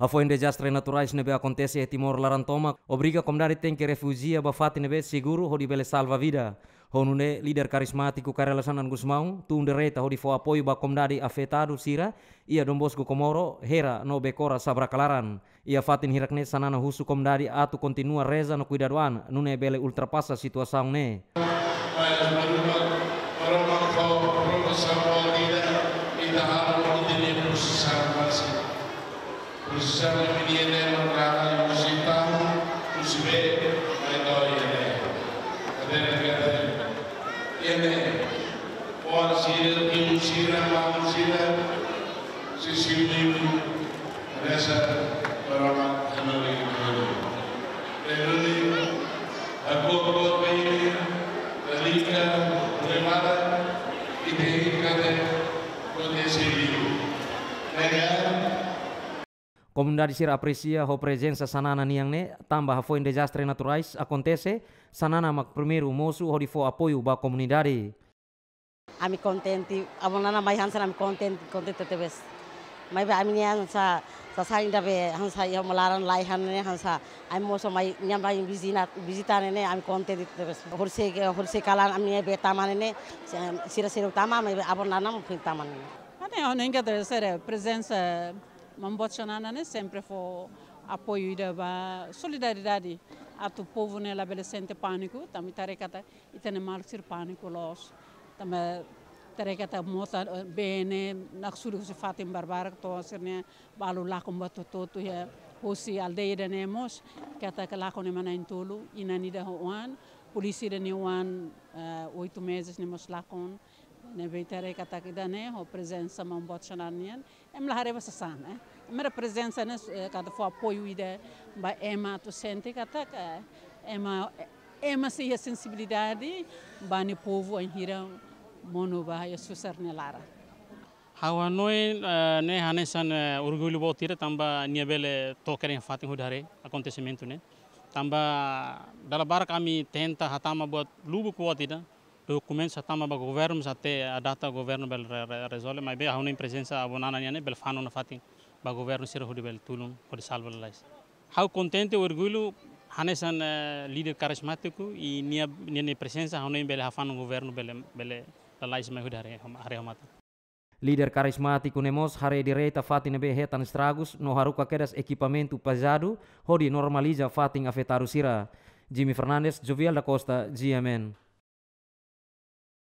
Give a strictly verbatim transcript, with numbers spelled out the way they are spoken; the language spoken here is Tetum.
Hafoin dezastre naturais ne'ebé akontese iha Timor laran tomak, obriga komunidade tenke refújiu ba fatin ne'ebé seguru hodi bele salva vida. Ho nune'e, líder karizmátiku Kay Rala Xanana Gusmão tun direta hodi fó apoiu ba komunidade afetadu sira iha Dom Bosco Comoro, Hera no Becora Sabracalaran. Iha fatin hirak-ne'e Xanana husu komunidade atu kontinua reza no kuidadu an, nune'e bele ultrapasa situasaun ne'e. Mas Maromak, Maromak fó provasaun ba ita, ita halo ita-nia prosisaun báziku. Prosisaun ida-ne'e marka husi taun, husi bee, mai to'o iha ne'e. Kaderna kaderna. Iha ne'e. Oan sira, timu sira, maun sira, sisi liu, reza, Maromak hanorin dulu. Dulu, aku kuat ini, Dalika, Lemara, ite kade, kode siliu. Dengan Komunidade sira apresia ho prezensa Xanana nian ne'e, tanba hafoin dezastre naturais akontese, Xanana mak primeiru mosu hodi fó apoiu ba komunidade. Ami kontente, Avó Nana mai hanesan ami kontente, kontente tebes. Maibé ami-nia hanesan, sasán ida be hanesan iha uma laran laiha ne'e hanesan, ami mós mai nia mai vizina, vizita ne'e, ami kontente tebes. Horisehik, horisehik kalan ami-nia bee tama ne'e, sira seluk tama, maibé Avó Nana mak foin tama ne'e. Ane, ha'u hanoin katak sira prezensa Maun Boot Xanana ne'e sempre fó apoiu ida ba solidariedade atu povu ne'e labele sente pániku, tanba ita haree katak ita-nia maluk sira pániku loos. Tanba ita haree katak mota, eh, bee ne'e naksulik husi fatin barbarak to'o sira-nia balu lakon ba hotu-hotu iha husi aldeia ida-ne'e mós, katak lakon ne'e ema na'in-tolu, inan ida ho oan, polísia ida nia oan, eh, oito meses ne'e mós lakon. Ne'ebé ita haree katak ida-ne'e ho prezensa Maun Boot Xanana nian, ema la haree ba sasán, eh. Ema nia prezensa ne'e, eh, katak fó apoiu ida ba ema atu sente katak, eh, ema, ema sei iha sensibilidade ba nia povu bainhira monu ba iha susar nia laran. Ha'u hanoin, eh, ne'e hanesan, eh, orgullu boot ida tanba nia bele to'o kedas iha fatin hodi haree akontesimentu ne'e. Tanba dala barak ami tenta hatama buat lubuk buat ida, dokumentu hatama ba governu, até a data governu bele re-, re-, rezolve, maibé ha'u hanoin prezensa Avó Nana nian ne'e bele fanun nafatin ba governu sira hodi bele tulun, hodi salva lalais. Ha'u kontente, orgullu, hanesan, eh, líder karizmátiku, i nia, nia, nia prezensa ha'u hanoin bele hafanun governu bele, bele lalais mai hodi haree, haree ho matan. Líder karizmátiku ne'e mós haree direta fatin ne'ebé hetan estragus no haruka kedas ekipamentu pezadu hodi normaliza fatin afetadu sira. Jimmy Fernandes, Jovial da Costa, G M N.